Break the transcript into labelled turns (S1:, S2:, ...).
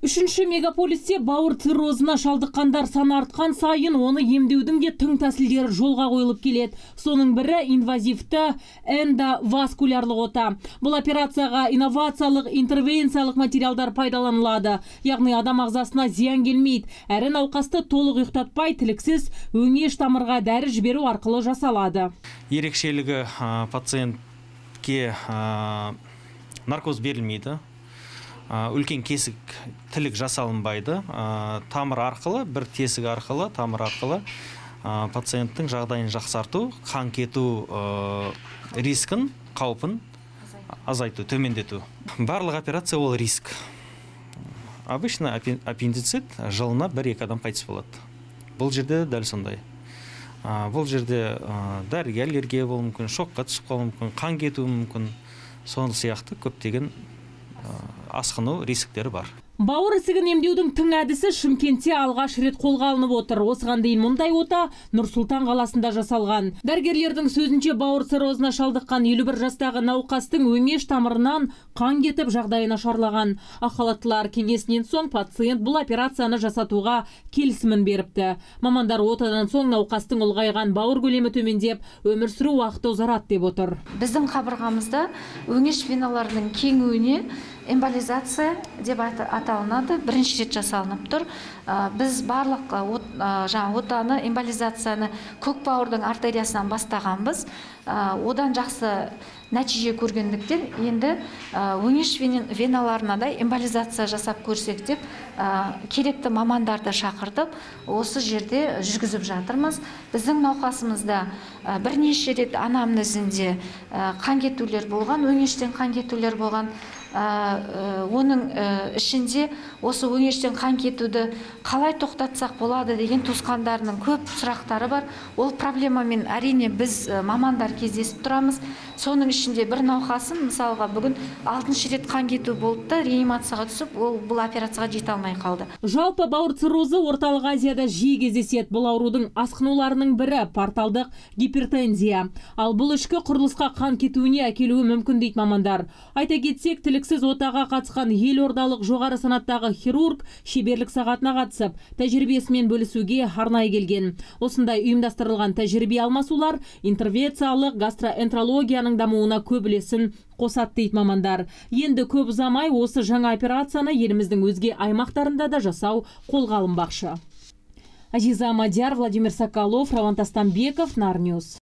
S1: Үшінші мегаполисте бауыр циррозына шалдыққандар саны артқан сайын оны емдеудің де тың тәсілдері жолға қойылып келеді. Соның бірі инвазивті эндоваскулярлық ота. Бұл операцияға инновациялық, интервенциялық материалдар пайдаланылады. Яғни адам ағзасына зиян келмейді. Әрі науқасты толық ұйықтатпай, тіліксіз өңеш тамырға дәрі жіберу арқылы жасалады.
S2: Ерекшелігі пациентке наркоз берілмейді. Үлкен кесік тілік жасалынбайды. Тамыр арқылы, бір тесік арқылы, тамыр арқылы пациенттің жағдайын жақсарту, қан кету рискін, қаупін азайту, төмендету. Барлық операция ол риск. Обычно аппендицит жылына 1-2 адам қайтыс болады. Бұл жерде дәл сондай. Бұл жерде дәріге аллергия болуы мүмкін, шокқа түсіп қалуы мүмкін, қан кетуі мүмкін. Сол сияқты көптеген асқыну рисктері бар.
S1: Бауыр ісігін емдеудің тың әдісі Шымкентте алғаш рет қолға алынып отыр. Осыған дейін мұндай ота Нұр-Сұлтан қаласында жасалған. Дәрігерлердің сөзінше бауыр циррозына шалдыққан 51 жастағы науқастың өңеш тамырынан қан кетіп жағдайы нашарлаған. Ақ халаттылар кеңесінен соң пациент бұл операцияны жасатуға келісімін беріпті. Мамандар отадан соң науқастың ұлғайған бауыр көлемі төмендеп, өмір сүру уақыты ұзарады деп отыр.
S3: Біздің қабырғамызда өңеш веналарының кеңуіне эмболизация деп аталынады, бірінші рет жасалынып тұр. Біз барлық отаны, эмболизацияны көк бауырдың артериясынан бастағанбыз. Одан жақсы нәтиже көргендіктен енді өңеш веналарына да эмболизация жасап көрсек деп керекті мамандарды шақыртып, осы жерде жүргізіп жатырмыз. Біздің науқасымызда бірнеше рет анамнезінде қан кетулер болған, өңештен қан кетулер болған. Оның ішінде осы өңештен қан кетуді қалай тоқтатсақ болады деген туысқандарының көп сұрақтары бар. Ол проблемамен әрине біз мамандар кездесіп тұрамыз. Соның ішінде бір науқасын, мысалға бүгін 6-шы рет қан кету болды, реанимацияға түсіп, ол бұл операцияға жете алмай қалды.
S1: Жалпы бауыр циррозы Орталық Азияда жиі кездеседі. Бұл аурудың асқынуларының бірі порталдық гипертензия. Ал бұл ішкі құрылысқа қан кетуіне әкелуі мүмкін дейді мамандар. Айта кетсек, тіліксіз отаға қатысқан елордалық жоғары санаттағы хирург шеберлік сағатына қатысып, тәжірибесімен бөлісуге арнайы келген. Осындай ұйымдастырылған тәжірибе алмасулар интервенциялық гастроэнтерологияның дамуына көп үлесін қосады дейді мамандар. Енді көп ұзамай осы жаңа операцияны еліміздің өзге аймақтарында да жасау қолға алынбақшы. Азиза Мадияр, Владимир Соколов, Раван Тастанбеков, Нарньюз.